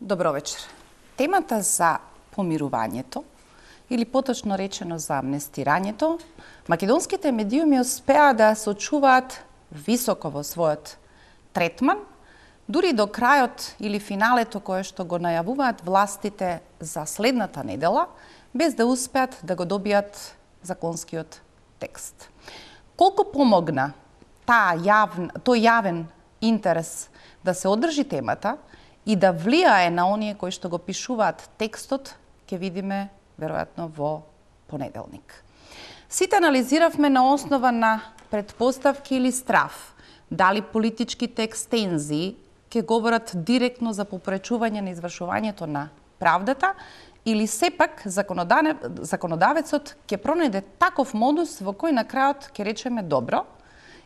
Добро вечер. Темата за помирувањето, или поточно речено за амнестирањето, македонските медиуми успеа да се очуваат високо во својот третман, дури до крајот или финалето кое што го најавуваат властите за следната недела, без да успеат да го добијат законскиот текст. Колку помогна тој јавен интерес да се одржи темата и да влијае на оние кои што го пишуваат текстот, ќе видиме веројатно во понеделник. Сите анализиравме на основа на предпоставки или страв, дали политичките екстензии ќе говорат директно за попречување на извршувањето на правдата, или сепак законодавецот ќе пронајде таков модус во кој на крајот ќе речеме добро,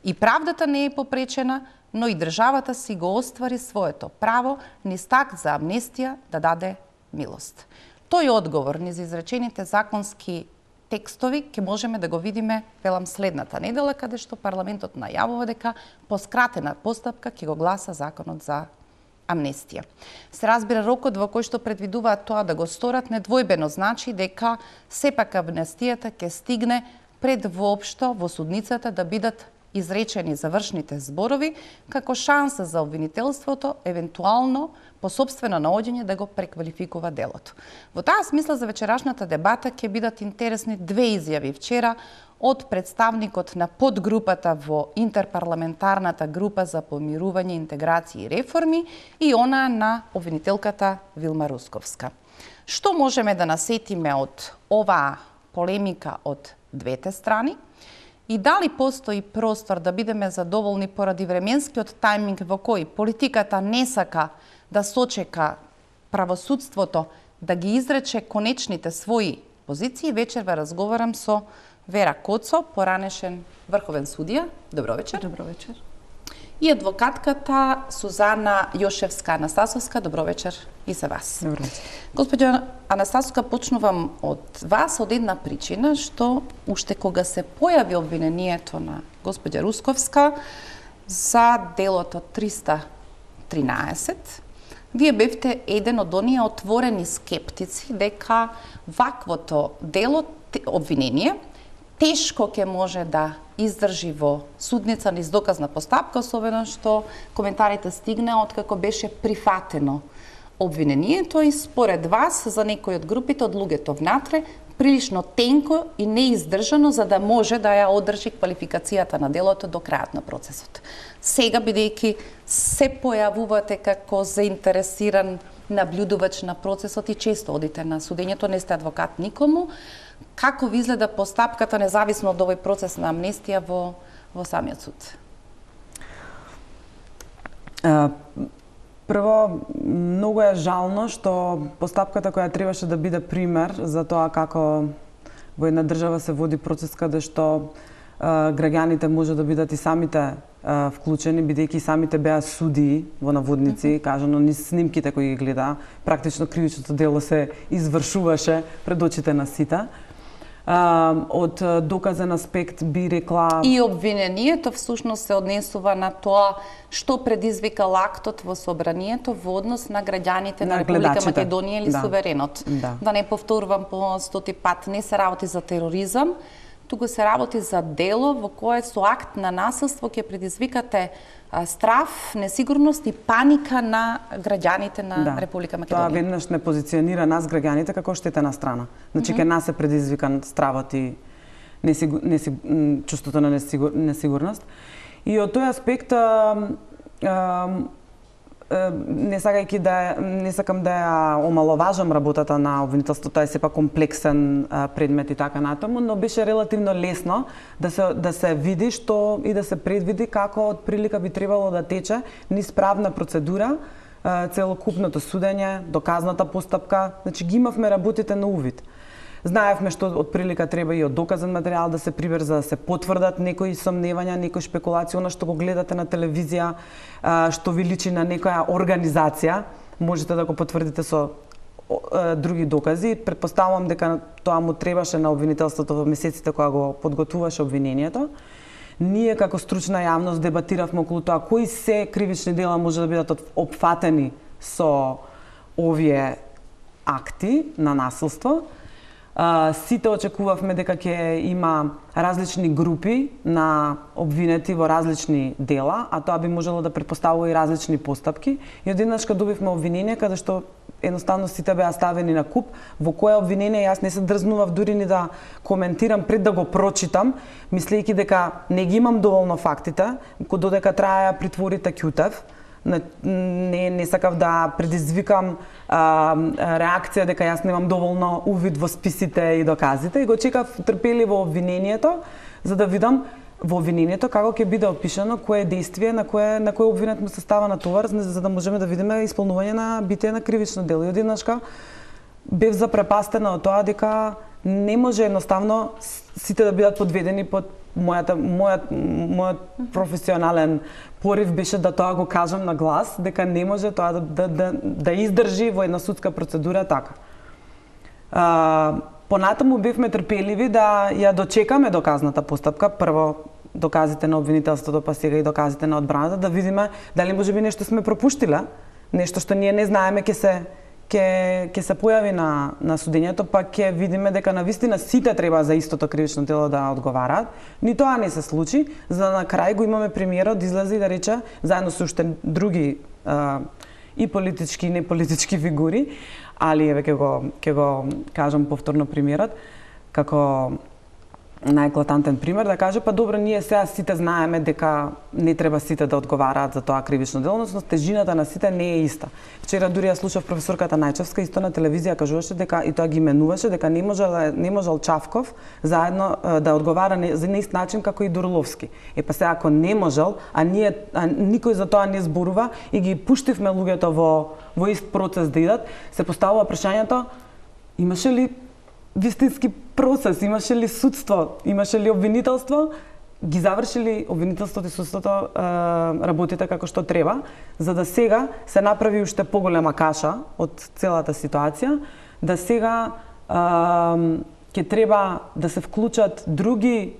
и правдата не е попречена, но и државата си го оствари своето право низ акт за амнестија да даде милост. Тој одговор низ изречените законски текстови ќе можеме да го видиме, велам, следната недела, каде што парламентот најавува дека по скратена постапка ќе го гласа законот за амнестија. Се разбира, рокот во кој што предвидуваат тоа да го сторат недвојбено значи дека сепак амнестијата ќе стигне пред воопшто во судницата да бидат изречени завршните зборови, како шанса за обвинителството, евентуално по сопствено наоѓање да го преквалификува делото. Во таа смисла за вечерашната дебата ќе бидат интересни две изјави вчера од представникот на подгрупата во интерпарламентарната група за помирување, интеграција и реформи и она на обвинителката Вилма Русковска. Што можеме да насетиме од оваа полемика од двете страни? И дали постои простор да бидеме задоволни поради временскиот тајминг во кој политиката не сака да сочека правосудството да ги изрече конечните своји позиции? Вечер ве разговарам со Вера Коцо, поранешен врховен судија. Добро вечер. Добро вечер. И адвокатката Сузана Јошевска-Анастасовска. Добро вечер и за вас. Добро вечер. Господја Анастасовска, почнувам од вас од една причина, што уште кога се појави обвинението на господја Русковска за делото 313, вие бевте еден од оние отворени скептици дека ваквото дело, обвинение, тешко ќе може да издржи во судница низ доказна постапка, особено што коментарите стигнаа откако беше прифатено обвинението и според вас за некои од групите од луѓето внатре прилично тенко и неиздржано за да може да ја одржи квалификацијата на делото до крајот на процесот. Сега, бидејќи се појавувате како заинтересиран наблюдувач на процесот и често одите на судењето, не сте адвокат никому, како ви изгледа постапката независно од овој процес на амнестија во самиот суд? Прво, многу е жално што постапката која требаше да биде пример за тоа како во една држава се води процес каде што граѓаните може да бидат и самите вклучени, бидејќи самите беа судии во наводници, кажано низ снимките кои ги гледа, практично кривичното дело се извршуваше пред очите на сите. Од доказен аспект би рекла... И обвинението всушност се однесува на тоа што предизвика актот во собранието во однос на граѓаните на Република Македонија или суверенот. Да не повторувам по 100 пат, не се работи за тероризам, туку се работи за дело во кое со акт на насилство ќе предизвикате страв, несигурност и паника на граѓаните на Република Македонија. Тоа веднаш не позиционира нас граѓаните како штетена страна. Значи ке нас е предизвикан стравот и чувството на несигурност. И од тој аспект не сакам да ја омаловажам работата на обвинителството, тоа е сепак комплексен предмет и така натаму, но беше релативно лесно да се види што и да се предвиди како од прилика би требало да тече низ правна процедура, целокупното судење, доказната постапка, значи ги имавме работите на увид. Знаевме што од прилика треба и од доказен материјал да се прибер за да се потврдат некои сомневања, некои шпекулации, она што го гледате на телевизија, што ви личи на некоја организација, можете да го потврдите со други докази. Претпоставувам дека тоа му требаше на обвинителството во месеците кога го подготвуваше обвинението. Ние како стручна јавност дебатиравме околу тоа кои се кривични дела може да бидат опфатени со овие акти на насилство. Сите очекувавме дека ќе има различни групи на обвинети во различни дела, а тоа би можело да претпоставува и различни постапки. И одеднашка добивме обвинение каде што едноставно сите беа ставени на куп. Во кое обвинение јас не се дрзнував дури ни да коментирам пред да го прочитам, мислејќи дека не ги имам доволно фактите, додека траја притворите ќутев. Не сакав да предизвикам реакција дека јас немам доволно увид во списите и доказите и го чекав трпеливо обвинението за да видам во обвинението како ќе биде опишано кое дејствие на кој обвинет му се става на товар за да можеме да видиме исполнување на битие на кривично дело. И одеднашка бев запрепастена од тоа дека не може едноставно сите да бидат подведени под мојот професионален порив беше да тоа го кажам на глас, дека не може тоа да издржи во една судска процедура така. Понатаму бевме трпеливи да ја дочекаме доказната постапка, прво доказите на обвинителството, па сега и доказите на одбраната, да видиме дали можеби нешто сме пропуштиле, нешто што ние не знаеме ќе се појави на судењето, па ќе видиме дека навистина сите треба за истото кривично дело да одговараат. Ни тоа не се случи, за да на крај го имаме премиерот да излезе и да рече, заедно со уште други и политички и неполитички фигури, али еве ќе го кажам повторно премиерот, како најеклатантен пример, да каже, па добро, ние сега сите знаеме дека не треба сите да одговараат за тоа кривично дело, но тежината на сите не е иста. Вчера дури ја слушав професорката Најчевска, исто на телевизија кажуваше дека, и тоа ги именуваше, дека не можел Чавков заедно да одговара за неист начин како и Дурловски. Па сега ако не можел, а никој за тоа не зборува и ги пуштивме луѓето во ист процес да идат, се поставува прашањето, имаше ли вистински процес, имаше ли судство, имаше ли обвинителство, ги завршили обвинителството и судството работите како што треба, за да сега се направи уште поголема каша од целата ситуација, да сега ќе треба да се вклучат други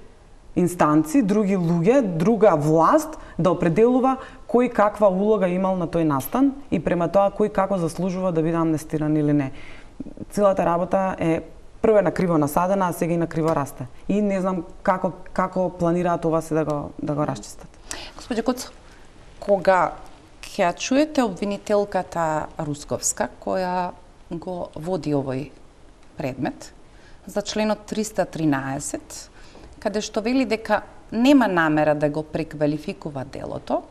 инстанци, други луѓе, друга власт да определува кој каква улога имал на тој настан и према тоа кој како заслужува да биде амнестиран или не. Целата работа е прво на криво насадена, а сега и на криво расте. И не знам како планираат ова се да го расчистат. Господи Коцо, кога ќе чуете обвинителката Русковска, која го води овој предмет, за членот 313, каде што вели дека нема намера да го преквалификува делото,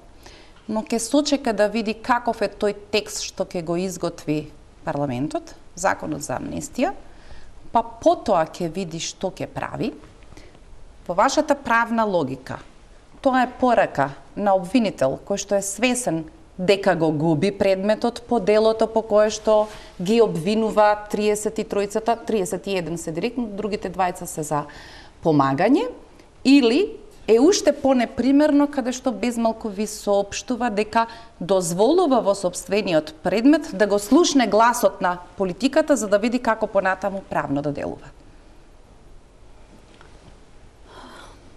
но ќе сочека да види каков е тој текст што ќе го изготви парламентот, законот за амнестија, па потоа ќе види што ќе прави. По вашата правна логика, тоа е порака на обвинител кој што е свесен дека го губи предметот по делото по кое што ги обвинува 33-цата, 31 се директно, другите двајца се за помагање, или е уште понепримерно каде што безмалку ви соопштува дека дозволува во сопствениот предмет да го слушне гласот на политиката за да види како понатаму правно да делува.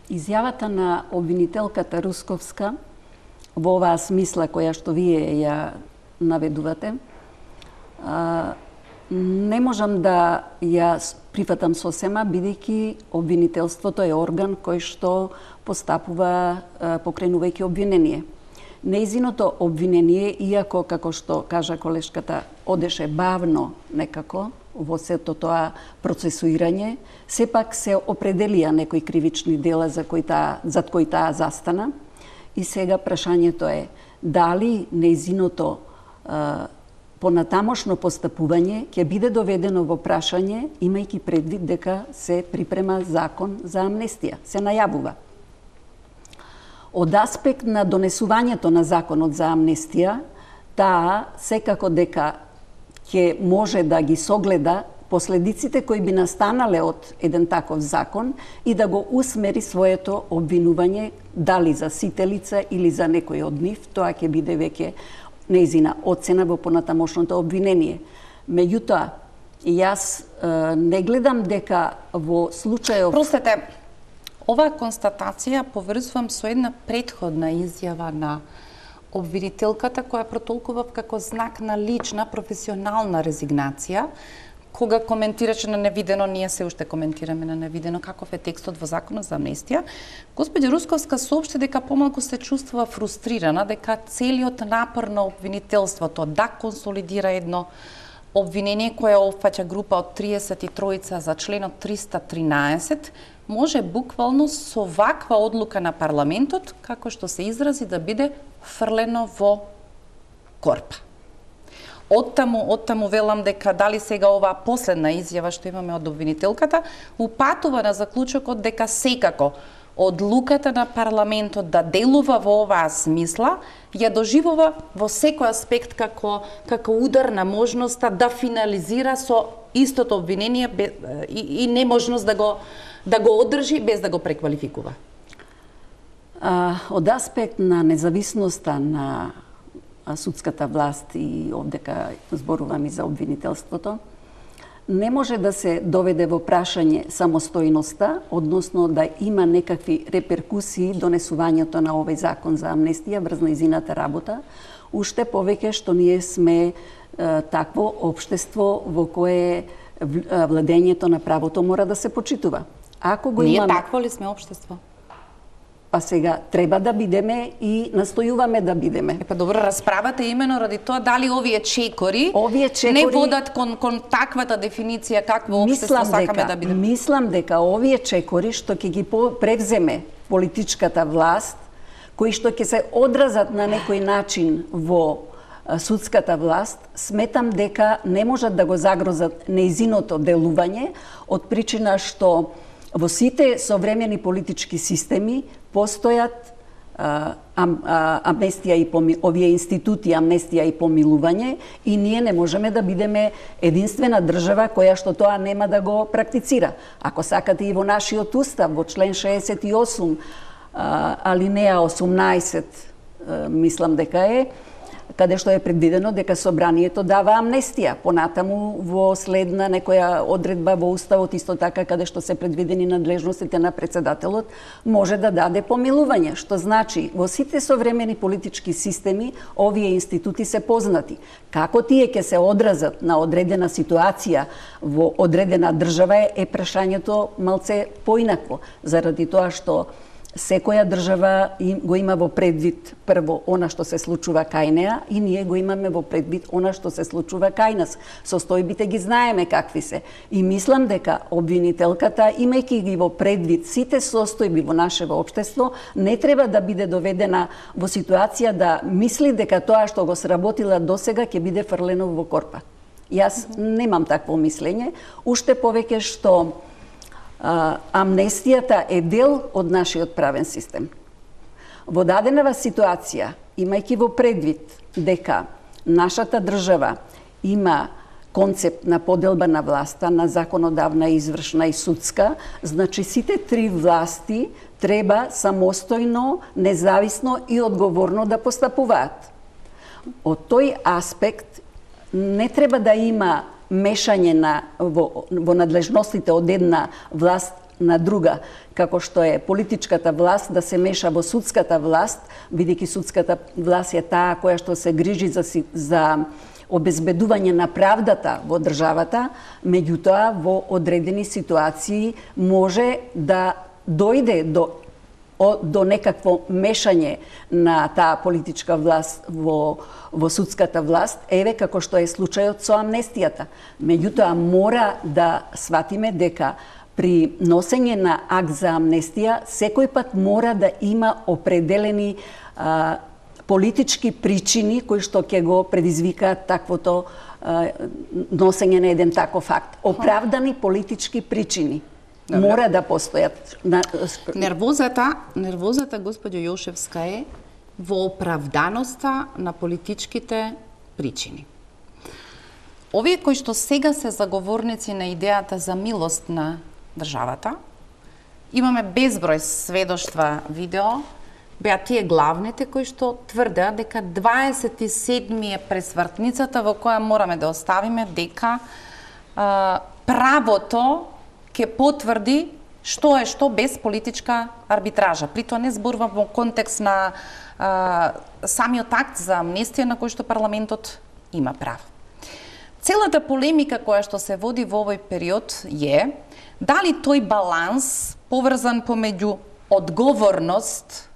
Изјавата на обвинителката Русковска во оваа смисла која што вие ја наведувате, не можам да ја прифатам сосема, бидејќи обвинителството е орган кој што постапува покренувајќи обвинение. Нејзиното обвинение, иако, како што кажа колешката, одеше бавно некако во сето тоа процесуирање, сепак се определија некои кривични дела за кои таа застана. И сега прашањето е дали нејзиното понатамошно постапување ќе биде доведено во прашање, имајќи предвид дека се припрема закон за амнестија, се најавува. Од аспект на донесувањето на законот за амнестија, таа секако дека ќе може да ги согледа последиците кои би настанале од еден таков закон и да го усмери своето обвинување дали за сите лица или за некој од нив, тоа ќе биде веќе нејзина оцена во понатамошното обвинение. Меѓутоа, јас не гледам дека во случајов... Простете, оваа констатација поврзувам со една претходна изјава на обвинителката која протолкува како знак на лична професионална резигнација, кога коментираше на невидено, ние се уште коментираме на невидено каков е текстот во Законот за амнестија, господја Русковска соопшти дека помалку се чувствува фрустрирана, дека целиот напор на обвинителството да консолидира едно обвинение кое опфаќа група од 33 за членот 313, може буквално со ваква одлука на парламентот, како што се изрази, да биде фрлено во корпа. Оттаму велам дека дали сега оваа последна изјава што имаме од обвинителката упатува на заклучокот дека секако одлуката на парламентот да делува во оваа смисла ја доживува во секој аспект како удар на можноста да финализира со истото обвинение и неможност да го одржи без да го преквалификува. Од аспект на независноста на судската власт и овдека зборувам и за обвинителството, не може да се доведе во прашање самостојноста, односно да има некакви реперкусии донесувањето на овој закон за амнестија врз нејзината работа, уште повеќе што ние сме такво општество во кое владењето на правото мора да се почитува. Ако го Ние имаме... такво ли сме општество? Па сега треба да бидеме и настојуваме да бидеме. Па добро, расправата е имено ради тоа дали овие чекори не водат кон таквата дефиниција какво општество сакаме да бидеме. Мислам дека овие чекори што ќе ги превземе политичката власт, кои што ќе се одразат на некој начин во судската власт, сметам дека не можат да го загрозат нејзиното делување од причина што во сите современи политички системи постојат амнестија и овие институти амнестија и помилување и ние не можеме да бидеме единствена држава која што тоа нема да го практицира. Ако сакате и во нашиот устав, во член 68, алинеа 18, мислам дека е, каде што е предвидено дека собранието дава амнестија. Понатаму во следна некоја одредба во уставот, исто така каде што се предвидени надлежностите на председателот, може да даде помилување, што значи во сите современи политички системи овие институти се познати. Како тие ќе се одразат на одредена ситуација во одредена држава е прашањето малце поинакво, заради тоа што секоја држава го има во предвид прво она што се случува кај неа и ние го имаме во предвид она што се случува кај нас. Состојбите ги знаеме какви се. И мислам дека обвинителката, имајќи ги во предвид сите состојби во нашето општество, не треба да биде доведена во ситуација да мисли дека тоа што го сработила досега ќе биде фрлено во корпа. Јас немам такво мислење, уште повеќе што амнестијата е дел од нашиот правен систем. Во дадена ситуација, имајќи во предвид дека нашата држава има концепт на поделба на власта, на законодавна, извршна и судска, значи сите три власти треба самостојно, независно и одговорно да постапуваат. Од тој аспект не треба да има мешање во надлежностите од една власт на друга, како што е политичката власт да се меша во судската власт, бидејќи судската власт е таа која што се грижи за обезбедување на правдата во државата, меѓутоа во одредени ситуации може да дојде до некакво мешање на таа политичка власт во судската власт, еве како што е случајот со амнестијата. Меѓутоа мора да сватиме дека при носење на акт за амнестија секој пат мора да има определени политички причини кои што ќе го предизвикаат таквото носење на еден таков акт. Оправдани политички причини. Мора да постојат. Нервозата, господјо Јошевска, е во оправданоста на политичките причини. Овие кои што сега се заговорници на идејата за милост на државата, имаме безброј сведоштва видео, беа тие главните кои што тврдеа дека 27 е пресвртницата во која мораме да оставиме дека правото ќе потврди што е што без политичка арбитража. При тоа не зборувам во контекст на самиот акт за амнестија на кој што парламентот има право. Целата полемика која што се води во овој период е дали тој баланс поврзан помеѓу одговорност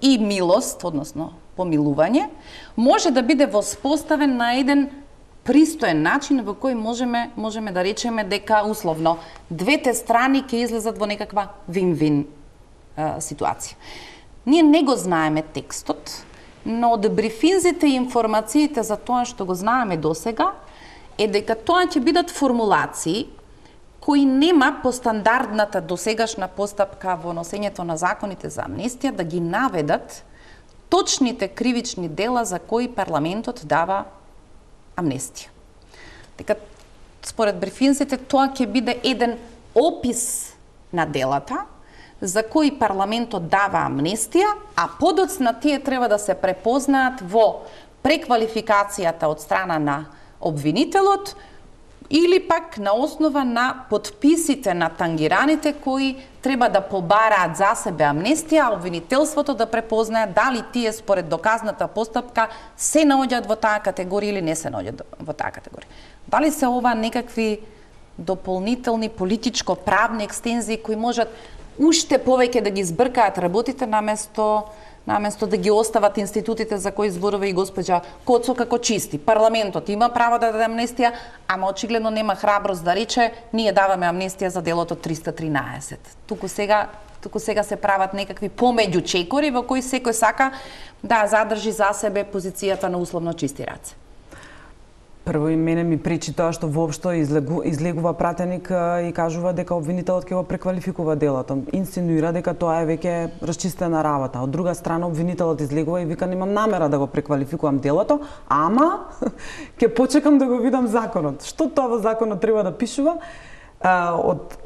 и милост, односно помилување, може да биде воспоставен на еден пристоен начин во кој можеме да речеме дека условно двете страни ќе излезат во некаква вин-вин ситуација. Ние не го знаеме текстот, но од брифинзите и информациите за тоа што го знаеме досега е дека тоа ќе бидат формулации кои нема по стандардната досегашна постапка во носењето на законите за амнестија да ги наведат точните кривични дела за кои парламентот дава амнестија. Дека според брифинзите тоа ќе биде еден опис на делата за кои парламентот дава амнестија, а подоцна тие треба да се препознаат во преквалификацијата од страна на обвинителот или пак на основа на подписите на тангираните кои треба да побараат за себе амнестија, а обвинителството да препознае дали тие според доказната постапка се наоѓаат во таа категорија или не се наоѓаат во таа категорија. Дали се ова некакви дополнителни политичко-правни екстензии кои можат уште повеќе да ги збркаат работите наместо да ги остават институтите за кои зборува и госпоѓа Коцо како чисти. Парламентот има право да даде амнестија, ама очигледно нема храброст да рече ние даваме амнестија за делото 313. Туку сега се прават некакви помеѓу чекори во кои секој сака да задржи за себе позицијата на условно чисти раце. Прво и мене ми пречи тоа што воопшто излегува пратеник и кажува дека обвинителот ќе го преквалификува делото. Инсинуира дека тоа е веќе расчистена работа. Од друга страна обвинителот излегува и вика немам намера да го преквалификувам делото, ама ќе почекам да го видам законот. Што тоа во законот треба да пишува? Од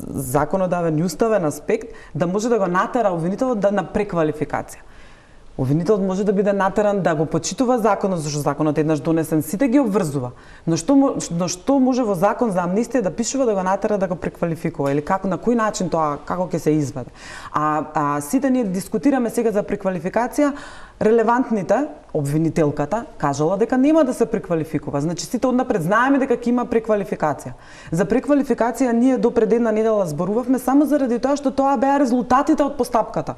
законодавен и уставен аспект да може да го натера обвинителот на преквалификација. Обвинителот може да биде натеран да го почитува законот, зашто законот еднаш донесен сите ги обврзува. Но што може во закон за амнестија да пишува да го натера да го преквалификува или како на кој начин тоа како ќе се изведе. Сите ние дискутираме сега за преквалификација, релевантните обвинителката кажала дека нема да се преквалификува. Значи сите однапред знаеме дека ќе има преквалификација. За преквалификација ние до пред една недела зборувавме само заради тоа што тоа беа резултатите од постапката.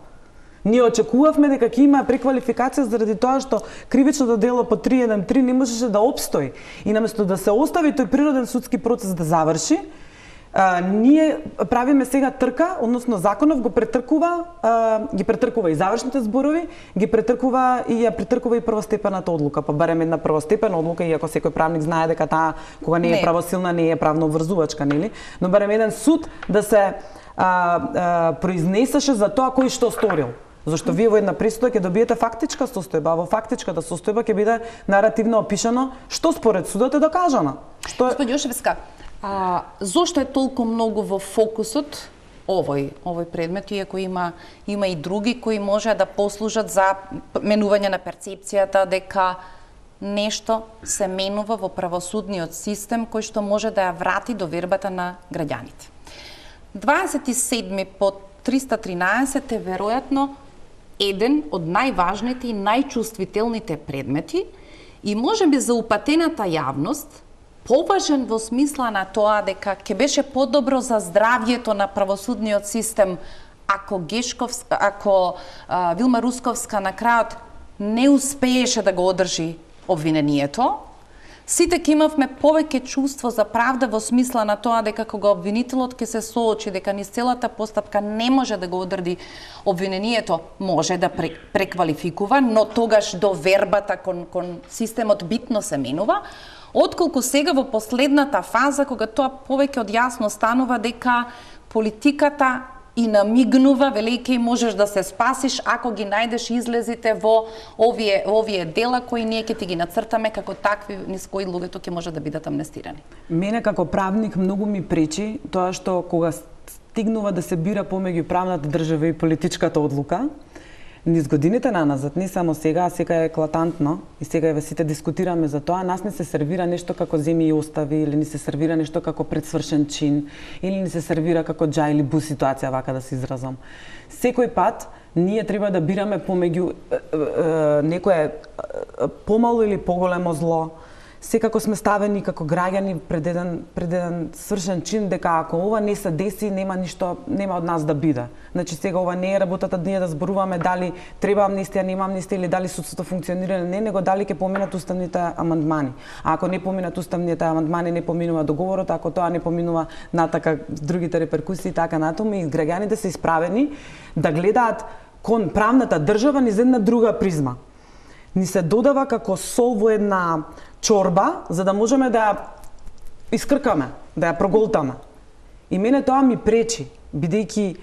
Ние очекувавме дека ќе има преквалификација заради тоа што кривичното дело по 313 не можеше да опстои и наместо да се остави тој природен судски процес да заврши, ние правиме сега трка, односно законов ги претркува и завршните зборови, ги претркува и ја претркува и првостепената одлука, па барем една првостепена одлука, иако секој правник знае дека таа кога не е правосилна не е правно обврзувачка, нели? Но барем еден суд да се произнесеше за тоа кој што сторил. Зашто вие во една пресуда ќе добиете фактичка состојба, а во фактичката состојба ќе биде наративно опишано што според судот е докажано. Господи Јошевска, зошто е толку многу во фокусот овој предмет, иако има и други кои може да послужат за менување на перцепцијата дека нешто се менува во правосудниот систем кој што може да ја врати довербата на граѓаните. 27 по 313 е веројатно еден од најважните и најчувствителните предмети и можеби за упатената јавност поважен во смисла на тоа дека ќе беше подобро за здравјето на правосудниот систем ако Вилма Русковска на крајот не успееше да го одржи обвинението. Сите ќе имавме повеќе чувство за правда во смисла на тоа дека кога обвинителот ќе се соочи дека низ целата постапка не може да го одрди обвинението, може да преквалификува, но тогаш довербата кон системот битно се менува, отколку сега во последната фаза кога тоа повеќе од јасно станува дека политиката и намигнува, велејќи можеш да се спасиш ако ги најдеш излезите во овие дела кои ние ќе ти ги нацртаме како такви низ кои луѓето ќе може да бидат амнестирани. Мене како правник многу ми пречи тоа што кога стигнува да се бира помеѓу правната држава и политичката одлука, низ годините наназад, не само сега, а сега е еклатантно и сега еве сите дискутираме за тоа, нас не се сервира нешто како земи и остави или не се сервира нешто како предсвршен чин или не се сервира како џа или бу ситуација, вака да се изразам. Секој пат ние треба да бираме помеѓу некое помало или поголемо зло. Секако сме ставени како граѓани пред еден свршен чин дека ако ова не се деси, нема од нас да биде. Значи сега ова не е работата ние да зборуваме дали треба амнестија, нема амнестија или дали судството функционира или не, него дали ќе поминат уставните амандмани. А ако не поминат уставните амандмани, не поминува договорот, ако тоа не поминува натака другите реперкусии и така натаму, и граѓаните се исправени да гледаат кон правната држава низ една друга призма. Ни се додава како сол во една чорба, за да можеме да ја искркаме, да ја проголтаме. И мене тоа ми пречи, бидејќи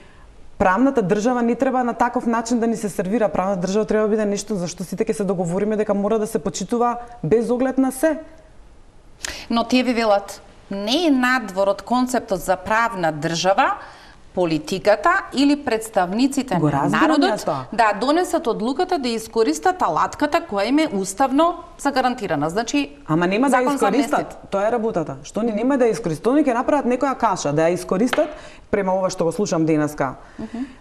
правната држава не треба на таков начин да ни се сервира. Правната држава треба да биде нешто за што сите ќе се договориме дека мора да се почитува без оглед на се. Но тие ви велат, не е надвор од концептот за правна држава, политиката или представниците на народот да донесат одлуката да искористат алатката која им е уставно загарантирана. Значи, ама нема да ја искористат. Тоа е работата. Што ни нема да ја искористат, они ќе направат некоја каша, да ја искористат према ова што го слушам денеска.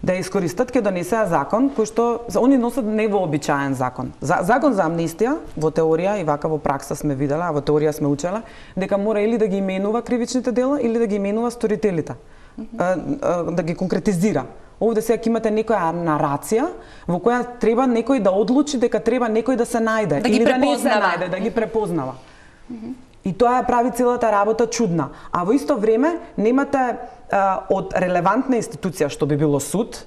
Да ја искористат, ќе донесеа закон кој што они носат невообичаен закон. Закон за амнестија во теорија и вака во пракса сме виделе, а во теорија сме учеле дека мора или да ги именува кривичните дела или да ги именува сторителите. Да ги конкретизира. Овде сега имате некоја нарација во која треба некој да одлучи дека треба некој да се најде или да не се најде, да ги препознава. И тоа ја прави целата работа чудна. А во исто време немате од релевантна институција што би било суд,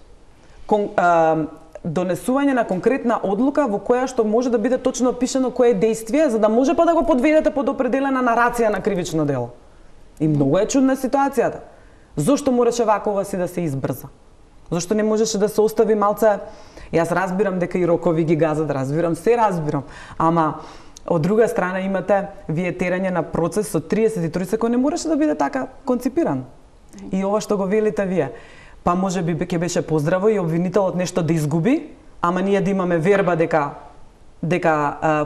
донесување на конкретна одлука во која што може да биде точно опишано кое дејствие за да може па да го подведете под определена нарација на кривично дело. И многу е чудна ситуацијата. Зошто мораше вакова си да се избрза? Зошто не можеше да се остави малце? Јас разбирам дека и рокови ги газат, се разбирам. Ама од друга страна имате вие терање на процес со 33 секунди не можеше да биде така конципиран. И ова што го велите вие. Па можеби ќе беше поздраво и обвинителот нешто да изгуби, ама ние да имаме верба дека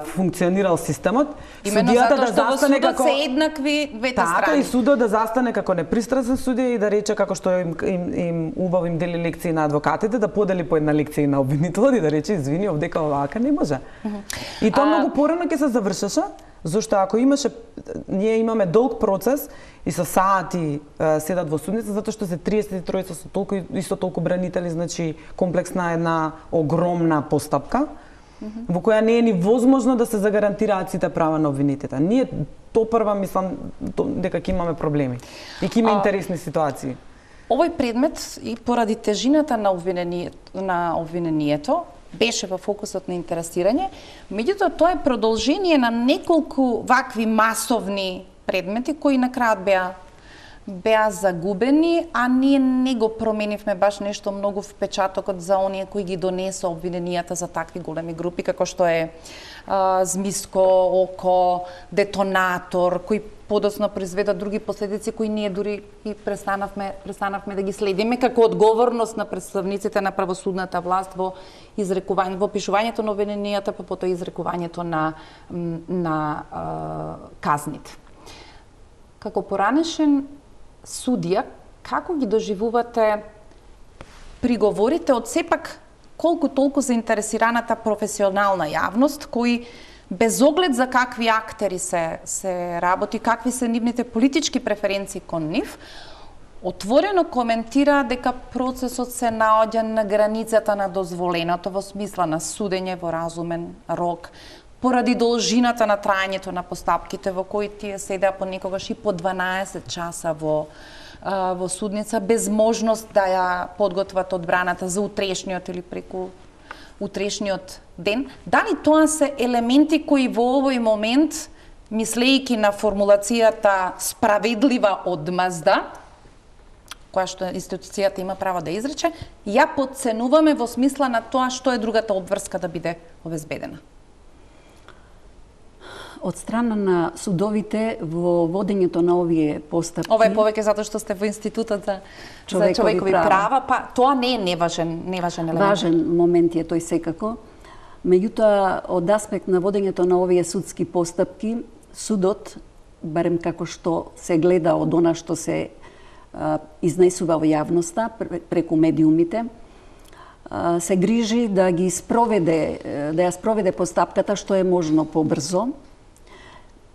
функционирал системот, судијата да застане како се еднакви двете страни. Така и судот да застане како непристрасен судија и да рече како што им убаво им дели лекции на адвокатите, да подели по една лекција на обвинителот и да рече извини, овдека овака не може. И тоа многу порано ќе се завршеше, зашто ако ние имаме долг процес и со сати седат во судница, затоа што се 33 со исто толку бранители, значи комплексна една огромна постапка, во која не е ни возможно да се загарантираат сите права на обвинетите. Ние прва мислам дека ќе имаме проблеми и ќе има интересни ситуации. Овој предмет и поради тежината на обвинението беше во фокусот на интересирање, меѓутоа тоа е продолжение на неколку вакви масовни предмети кои на крајот беа загубени, а ние не го променивме баш нешто многу впечатокот за оние кои ги донесоа обвиненијата за такви големи групи, како што е Змиско, Око, Детонатор, кои подоцна произведа други последици кои ние дури и престанавме да ги следиме како одговорност на представниците на правосудната власт во пишувањето на обвиненијата, па потоа изрекувањето на казните. Како поранешен судија, како ги доживувате приговорите од сепак колку толку заинтересираната професионална јавност, кои без оглед за какви актери се работи, какви се нивните политички преференции кон нив, отворено коментира дека процесот се наоѓа на границата на дозволеното во смисла на судење во разумен рок, поради должината на траењето на постапките во кои тие седеа понекогаш и по 12 часа во судница, без можност да ја подготват одбраната за утрешниот или преку утрешниот ден. Дали тоа се елементи кои во овој момент, мислејќи на формулацијата справедлива одмазда, која што институцијата има право да изрече, ја подценуваме во смисла на тоа што е другата обврска да биде обезбедена? Од страна на судовите во водењето на овие постапки. Ова е повеќе затоа што сте во Институтот за човекови права, па тоа не е неважен елемент. Важен момент е тој секако. Меѓутоа, од аспект на водењето на овие судски постапки, судот, барем како што се гледа од она што се изнесува во јавноста преку медиумите, се грижи да ги спроведе, да ја спроведе постапката што е можно побрзо,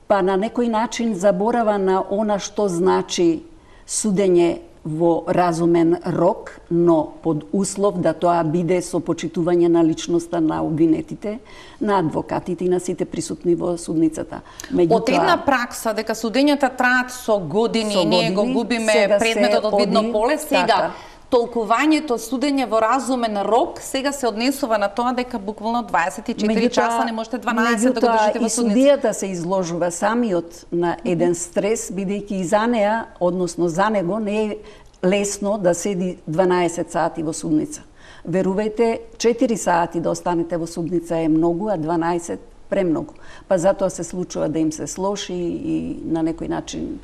па на некој начин заборава на она што значи судење во разумен рок, но под услов да тоа биде со почитување на личноста на обвинетите, на адвокатите и на сите присутни во судницата. Од една пракса дека судењата траат со години, ние го губиме предметот од видно поле, сега толкувањето судење во разумен рок сега се однесува на тоа дека буквално 24 часа не можете 12 да го држите во судница. И судијата се изложува самиот на еден стрес, бидејќи и за неа, односно за него, не е лесно да седи 12 сати во судница. Верувајте, 4 сати да останете во судница е многу, а 12 премногу. Па затоа се случува да им се слоши и на некој начин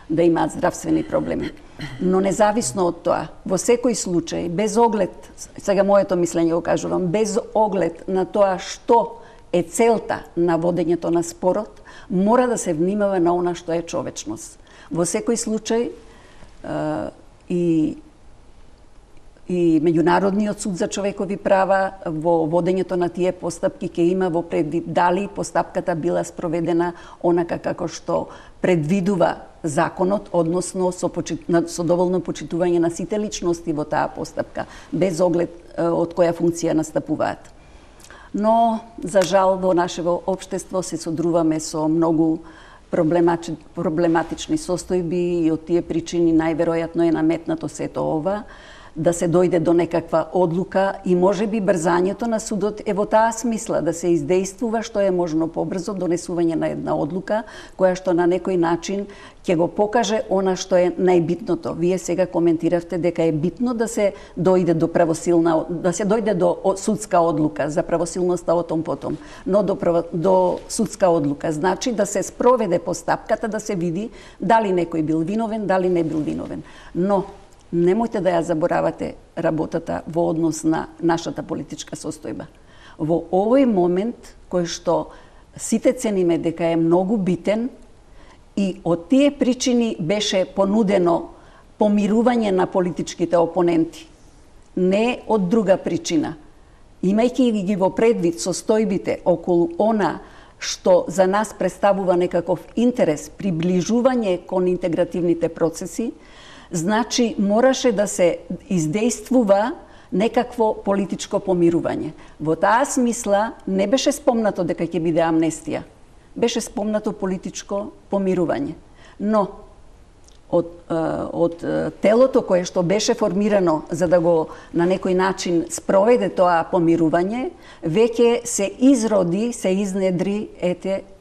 да имаат здравствени проблеми. Но независно од тоа, во секој случај, без оглед, сега моето мислење го кажувам, без оглед на тоа што е целта на водењето на спорот, мора да се внимава на она што е човечност. Во секој случај и Меѓународниот суд за човекови права во водењето на тие постапки ќе има во предвид дали постапката била спроведена онака како што предвидува законот, односно со доволно почитување на сите личности во таа постапка, без оглед од која функција настапуваат. Но, за жал, во нашето општество се содруваме со многу проблематични состојби и од тие причини најверојатно е наметнато сето ова, да се дојде до некаква одлука и можеби брзањето на судот е во таа смисла да се издействува што е можно побрзо донесување на една одлука која што на некој начин ќе го покаже она што е најбитното. Вие сега коментиравте дека е битно да се дојде до судска одлука, за правосилноста о том потом, но до судска одлука. Значи да се спроведе постапката, да се види дали некој бил виновен, дали не бил виновен. Но немојте да ја заборавате работата во однос на нашата политичка состојба. Во овој момент, кој што сите цениме дека е многу битен, и од тие причини беше понудено помирување на политичките опоненти. Не од друга причина. Имајќи ги во предвид состојбите околу она што за нас представува некаков интерес, приближување кон интегративните процеси, значи мораше да се издействува некакво политичко помирување. Во таа смисла не беше спомнато дека ќе биде амнестија. Беше спомнато политичко помирување. Но од телото кое што беше формирано за да го на некој начин спроведе тоа помирување, веќе се изроди, се изнедри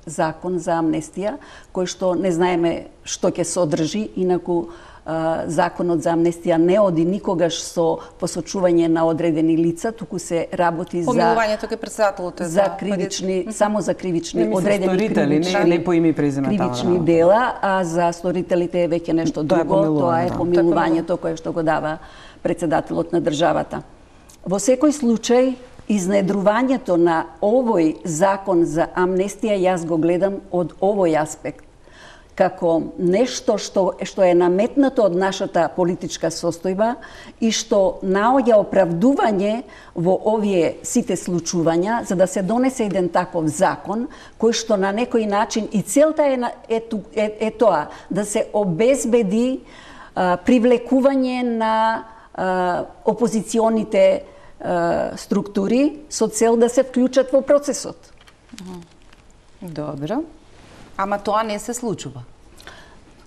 закон за амнестија, кој што не знаеме што ќе содржи, инаку законот за амнестија не оди никогаш со посочување на одредени лица, туку се работи помилувањето кај претседателот за кривични, само за кривични одредени не по име и презиме кривични дела, а за сторителите е веќе нешто друго, тоа е помилувањето кое што го дава претседателот на државата. Во секој случај, изнедрувањето на овој закон за амнестија јас го гледам од овој аспект, како нешто што е наметнато од нашата политичка состојба и што наоѓа оправдување во овие сите случувања за да се донесе еден таков закон кој што на некој начин и целта е тоа да се обезбеди привлекување на опозиционите структури со цел да се вклучат во процесот. Добро. Ама тоа не се случува.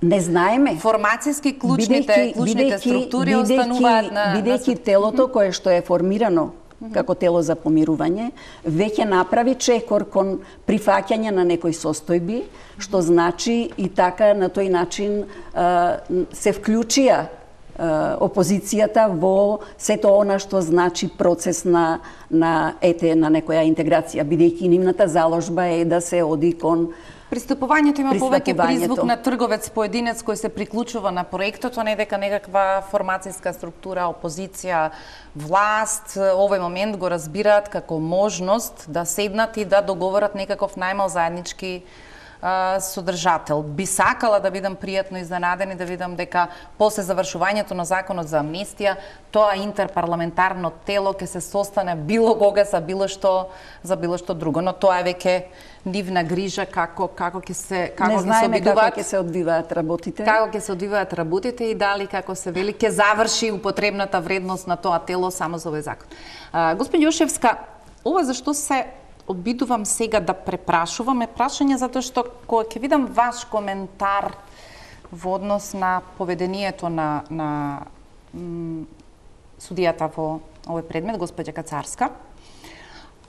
Не знаеме. Формацијски клучните структури остануваат на... Бидејќи телото кое што е формирано како тело за помирување, веќе направи чекор кон прифаќање на некои состојби, што значи и така на тој начин се вклучија опозицијата во сето она што значи процес на некоја интеграција, бидејќи нивната заложба е да се оди кон пристапувањето има повеќе призвук на трговец поединец кој се приклучува на проектот, а не дека некаква формацијска структура, опозиција, власт, овој момент го разбираат како можност да седнат и да договорат некаков најмал заеднички содржател. Би сакала да бидам пријатно изненаден и да видам дека после завршувањето на законот за амнестија, тоа интерпарламентарно тело ќе се состане било кога за било што друго, но тоа е веќе нивна грижа како ќе се одвиваат работите. Како ќе се одвиваат работите и дали како се вели ќе заврши употребната вредност на тоа тело само за овој закон. Господи Јошевска, ова зашто се обидувам сега да препрашувам е прашање затоа што кога ќе видам ваш коментар во однос на поведението на судијата во овој предмет, господја Кацарска,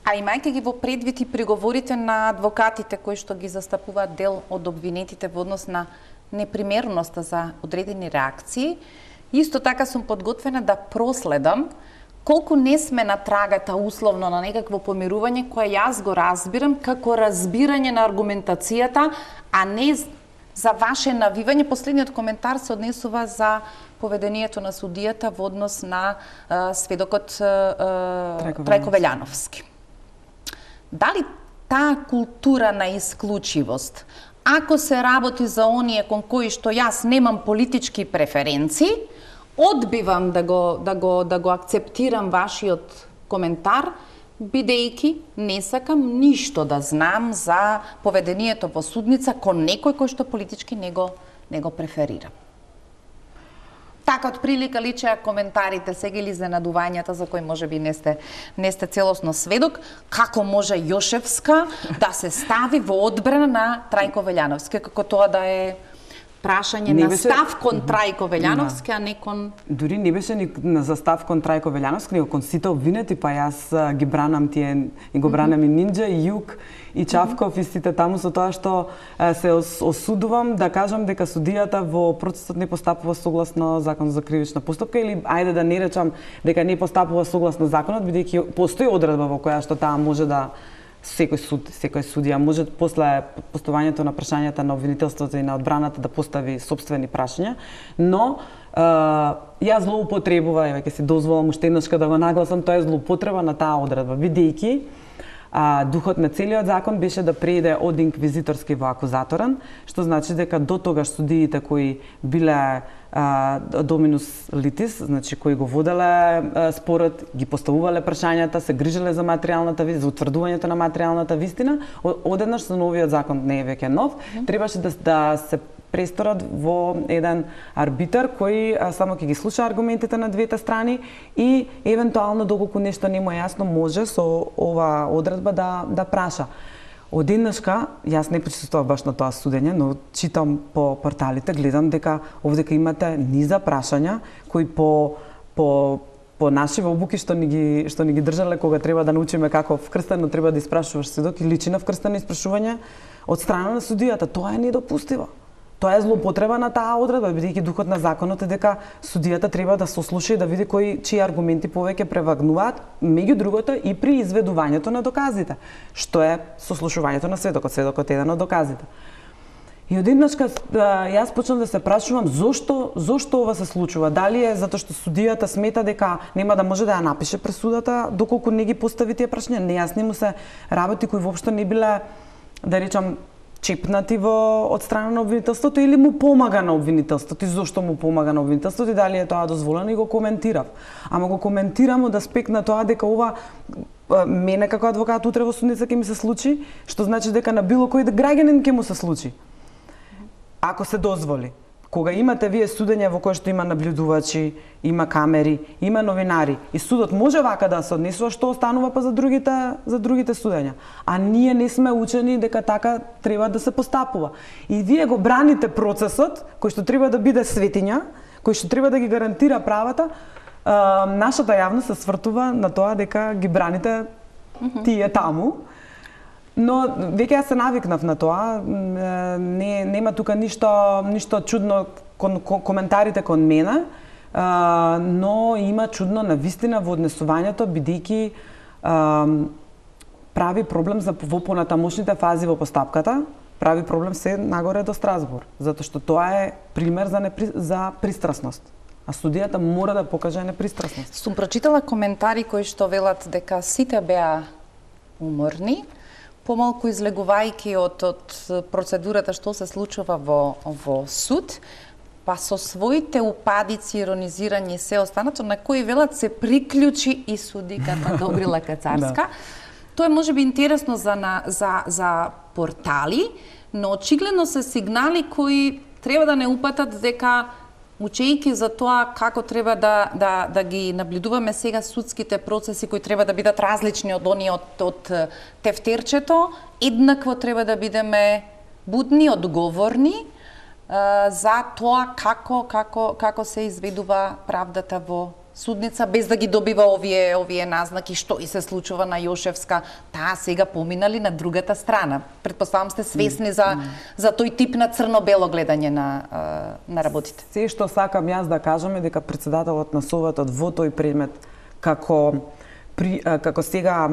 а имајќи ги во предвид и приговорите на адвокатите кои што ги застапуваат дел од обвинетите во однос на непримереноста за одредени реакции, исто така сум подготвена да проследам колку не сме на трагата условно на некакво помирување кое јас го разбирам како разбирање на аргументацијата, а не за ваше навивање. Последниот коментар се однесува за поведението на судијата во однос на сведокот Трајко Велјановски. Дали таа култура на исклучивост, ако се работи за оние кон кои што јас немам политички преференции, одбивам да го акцептирам вашиот коментар, бидејќи не сакам ништо да знам за поведението во судница кон некој кој што политички не го преферира. Така од прилика личеа коментарите сега или изненадувањата за кои можеби не сте целосно сведок, како може Јошевска да се стави во одбрана на Трајко Велјановски, како тоа да е прашање на став кон Трајко Велјановски, а не кон... Дури не беше ни за став кон Трајко Велјановски, него кон сите обвинети, па јас ги бранам тие, и го бранам и Нинџа, и Јук, и Чавков, и сите таму со тоа што се осудувам да кажам дека судијата во процесот не постапува согласно законот за кривична постапка, или ајде да не речам дека не постапува согласно законот, бидејќи постои одредба во која што таа може да секој судија може после поставањето на прашањата на обвинителството и на одбраната да постави сопствени прашања, но јас злоупотребува, ќе си дозволам уште еднашка да го нагласам, тоа е злоупотреба на таа одредба, бидејќи духот на целиот закон беше да преиде од инквизиторски во акузаторен, што значи дека до тогаш судиите кои биле доминус литис, значи кои го воделе спорот, ги поставувале прашањата, се грижеле за материјалната вистина, за утврдувањето на материјалната вистина, одеднаш со новиот закон не е веќе нов, требаше да се престорат во еден арбитар кој само ќе ги слуша аргументите на двете страни и евентуално доколку нешто не му е јасно може со ова одредба да праша. Одеднашка, јас не присуствував баш на тоа судење, но читам по порталите, гледам дека овдека имате низа прашања кои по наши обуки што ни ги држале кога треба да научиме како вкрстено треба да испрашуваш сведок и личи на вкрстено испрашување од страна на судијата. Тоа е недопустиво. Тоа е злоупотреба на таа одредба, бидејќи духот на законот е дека судијата треба да сослуша и да види чии аргументи повеќе превагнуваат, меѓу другото и при изведувањето на доказите, што е сослушувањето на сведокот. Сведокот е еден од доказите. И одеднашка јас почнав да се прашувам зошто ова се случува. Дали е затоа што судијата смета дека нема да може да ја напише пресудата доколку не ги постави тие прашања, нејасни му се работи кои воопшто не биле, да речам, чепнати од страна на обвинителството или му помага на обвинителството и зошто му помага на обвинителството и дали е тоа дозволено и го коментирав. Ама го коментирам од аспект на тоа дека ова мене како адвокат утре во судница ќе ми се случи, што значи дека на било кој граѓанин ќе му се случи. Ако се дозволи. Кога имате вие судење во кое што има наблюдувачи, има камери, има новинари и судот може вака да се однесува, што останува па за другите судења. А ние не сме учени дека така треба да се постапува. И вие го браните процесот кој што треба да биде светиња, кој што треба да ги гарантира правата, нашата јавност се свртува на тоа дека ги браните тие таму. Но веќе јас се навикнав на тоа, нема тука ништо чудно кон коментарите кон мене, но има чудно на вистина во однесувањето, бидејќи прави проблем во понатамошните фази во постапката, прави проблем се нагоре до Страсбур, затоа што тоа е пример за пристрасност. А судијата мора да покаже непристрасност. Сум прочитала коментари кои што велат дека сите беа уморни, помалку излегувајќи од процедурата што се случува во суд, па со своите упадици, иронизирање и се останато, на кои велат се приклучи и судиката Добрила Кацарска. Тоа е можеби интересно за портали, но очигледно се сигнали кои треба да не упатат дека учејќи за тоа како треба да ги наблюдуваме сега судските процеси кои треба да бидат различни од оние од тефтерчето, еднакво треба да бидеме будни, одговорни за тоа како се изведува правдата во судница, без да ги добива овие назнаки што и се случува на Јошевска, таа сега поминали на другата страна. Предпоставам сте свесни за тој тип на црно-бело гледање на работите. Се што сакам јас да кажам е дека председателот на Советот во тој предмет како сега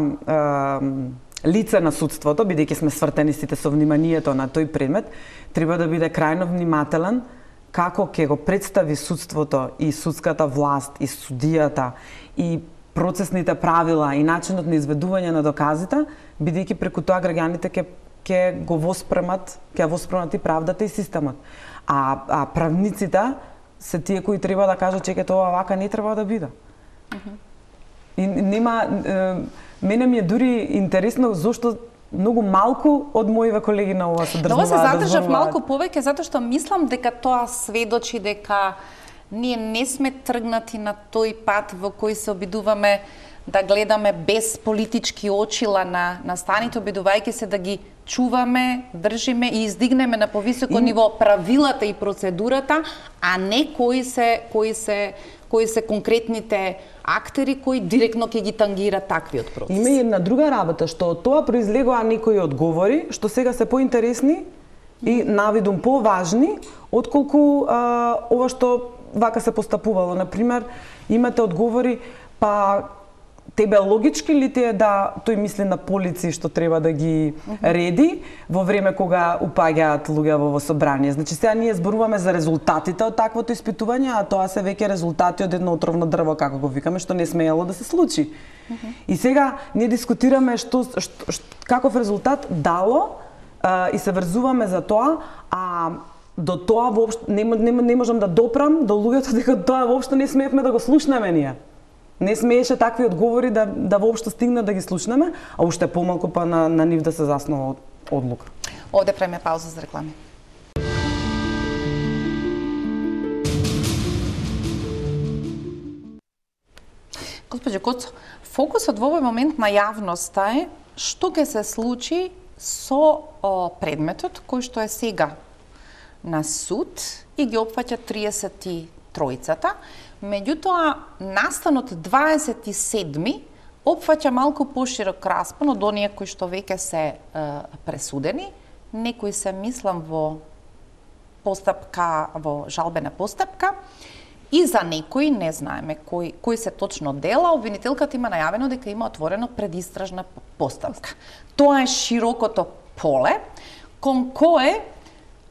лице на судството, бидејќи сме свртени сите со вниманието на тој предмет, треба да биде крајно внимателен како ќе го представи судството и судската власт и судијата и процесните правила и начинот на изведување на доказите, бидејќи преку тоа граѓаните ќе воспремат и правдата и системот. А правниците се тие кои треба да кажат чеке тоа вака не треба да биде. И нема мене ми е дури интересно зошто многу малку од моите колеги на ова се дрзнуваат да зборуваат. Но се задржав малку повеќе затоа што мислам дека тоа сведочи дека ние не сме тргнати на тој пат во кој се обидуваме да гледаме без политички очила на станите, обидувајќи се да ги чуваме, држиме и издигнеме на повисоко ниво правилата и процедурата, а не кои се конкретните актери кои директно ќе ги тангираат таквиот процес. Има и една друга работа, што од тоа произлегува некои одговори, што сега се поинтересни и навидум поважни, отколку ова што вака се постапувало. Например, имате одговори, па тебе логички ли ти е да тој мисли на полици што треба да ги реди во време кога упаѓаат луѓе во собрание. Значи сега ние зборуваме за резултатите од таквото испитување, а тоа се веќе резултати од едно отровно дрво, како го викаме, што не смеело да се случи. И сега ние дискутираме каков резултат дало и се врзуваме за тоа, а до тоа воопшто не можам да допрам до луѓето дека тоа воопшто не смеевме да го слушнеме ние. Не смееше такви одговори да воопшто стигнат да ги слушнеме, а уште помалку па на нив да се заснова одлука. Овде правиме пауза за реклами. Госпоđo Коцо, фокусот во овој момент на јавноста е што ќе се случи со предметот кој што е сега на суд и ги опфаќа 33-цата. Меѓутоа, настанот 27-ми опфаќа малку поширок распон од оние кои што веќе се пресудени. Некои се мислам во жалбена постапка и за некои не знаеме кои се точно дела. Обвинителката има најавено дека има отворено предистражна постапка. Тоа е широкото поле кон кое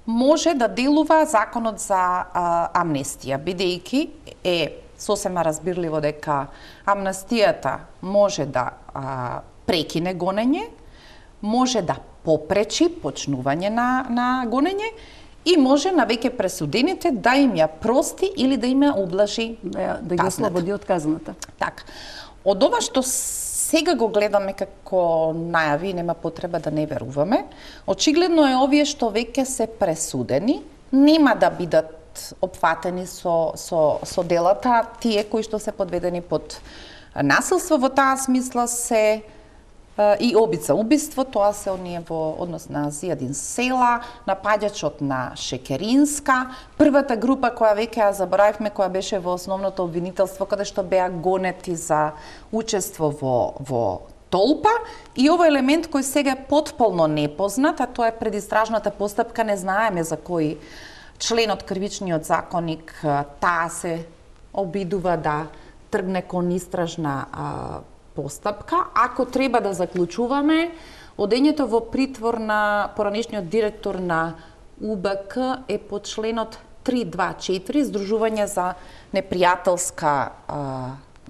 може да делува законот за амнестија, бидејќи е сосема разбирливо дека амнестијата може да прекине гонење, може да попречи почнување на гонење и може на веќе пресудените да им ја прости или да им ја облажи да ги ослободи од казната. Така. Од ова што сега го гледаме како најави, нема потреба да не веруваме. Очигледно е овие што веќе се пресудени, нема да бидат опфатени со делата, тие кои што се подведени под насилство во таа смисла се и обица убиство, тоа се оние во однос на Зијадин Села, напаѓачот на Шекеринска, првата група која веќе ја заборавивме, која беше во основното обвинителство, каде што беа гонети за учество во толпа, и овој елемент кој сега е потполно непознат, а тоа е предистражната постапка, не знаеме за кој член од кривичниот законник таа се обидува да тргне кон истражна постапка. Ако треба да заклучуваме, одењето во притвор на поранешниот директор на УБК е по членот 324, Здружување за непријателска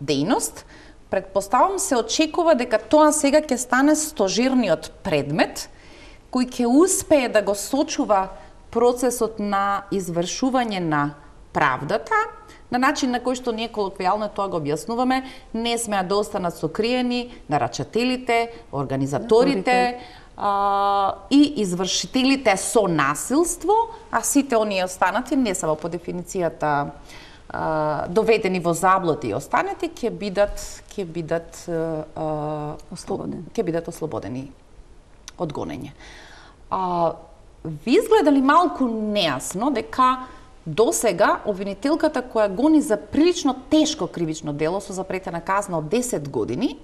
дејност, Предпоставам се очекува дека тоа сега ќе стане стожерниот предмет кој ќе успее да го сочува процесот на извршување на правдата, на начин на кој што ние колоквијално тоа го објаснуваме, не смеа да останат сокриени нарачателите, организаторите и извршителите со насилство, а сите оние останати не само по дефиницијата доведени во заблуди и останати ќе бидат ослободени од гонење. Ви изгледали малку нејасно дека досега обвинителката која гони за прилично тешко кривично дело со запретена казна од 10 години,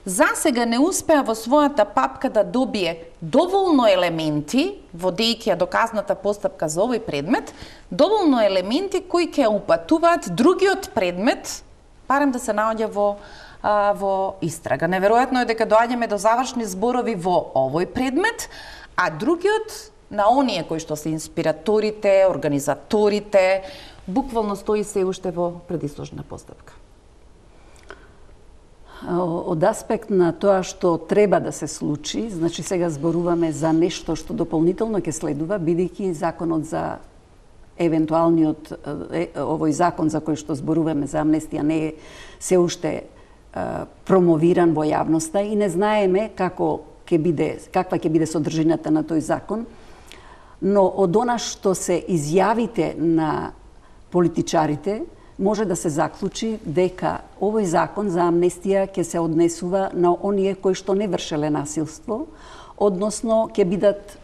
засега не успеа во својата папка да добие доволно елементи, водејќи ја доказната постапка за овој предмет, доволно елементи кои ќе упатуваат другиот предмет, барем да се наоѓа во истрага. Неверојатно е дека доаѓаме до завршни зборови во овој предмет, а другиот на оние кои што се инспираторите, организаторите, буквално стои се уште во предисложна постапка. Од аспект на тоа што треба да се случи, значи сега зборуваме за нешто што дополнително ќе следува, бидејќи законот за евентуалниот овој закон за кој што зборуваме за амнестија не е се уште промовиран во јавноста и не знаеме каква ќе биде содржината на тој закон, но од она што се изјавите на политичарите, може да се заклучи дека овој закон за амнестија ќе се однесува на оние кои што не вршеле насилство, односно ќе бидат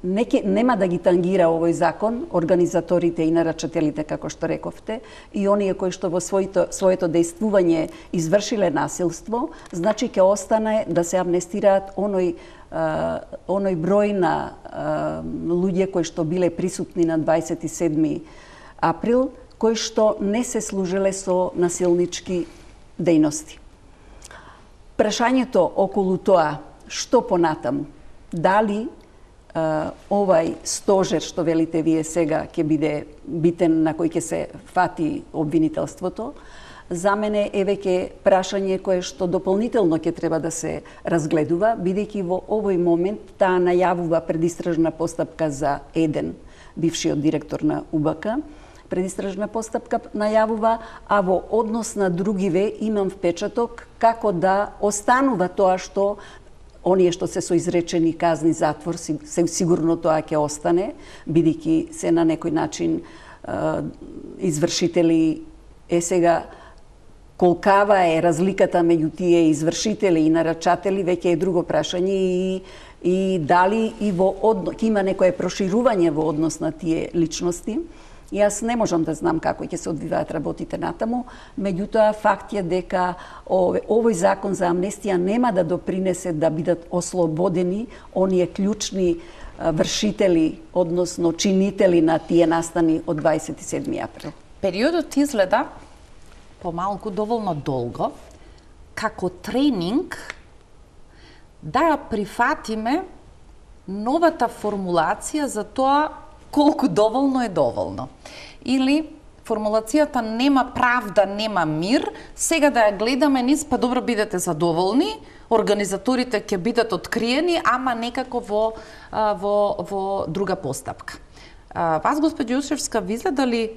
нема да ги тангира овој закон организаторите и нарачателите, како што рековте, и оние кои што во своето дејствување извршиле насилство, значи ќе остане да се амнестираат оној број на луѓе кои што биле присутни на 27 април, кои што не се служеле со насилнички дејности. Прашањето околу тоа, што понатаму, дали овај стожер, што велите вие сега, ќе биде битен на кој ќе се фати обвинителството, за мене е веќе прашање кое што дополнително ќе треба да се разгледува, бидејќи во овој момент таа најавува предистражна постапка за еден бившиот директор на УБК, предистражна постапка најавува, а во однос на другиве имам впечаток како да останува тоа што оние што се со изречени казни затвор, сигурно тоа ќе остане, бидејќи се на некој начин извршители сега колкава е разликата меѓу тие извршители и нарачатели веќе е друго прашање и дали и ќе има некое проширување во однос на тие личности. Јас не можам да знам како ќе се одвиваат работите натаму, меѓутоа факт е дека овој закон за амнестија нема да допринесе да бидат ослободени оние клучни вршители, односно чинители на тие настани од 27 април. Периодот изгледа помалку доволно долго како тренинг да ја прифатиме новата формулација за тоа колку доволно е доволно. Или формулацијата нема правда, нема мир, сега да ја гледаме низ, па добро бидете задоволни, организаторите ќе бидат откриени, ама некако во друга постапка. Вас, госпоѓо Јушевска, ви изгледа ли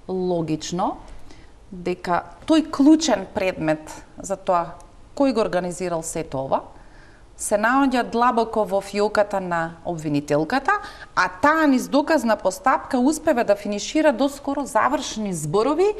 логично дека тој клучен предмет за тоа кој го организирал сето ова, се наоѓа длабоко во фиоката на обвинителката, а таа низ доказна постапка успева да финишира до скоро завршни зборови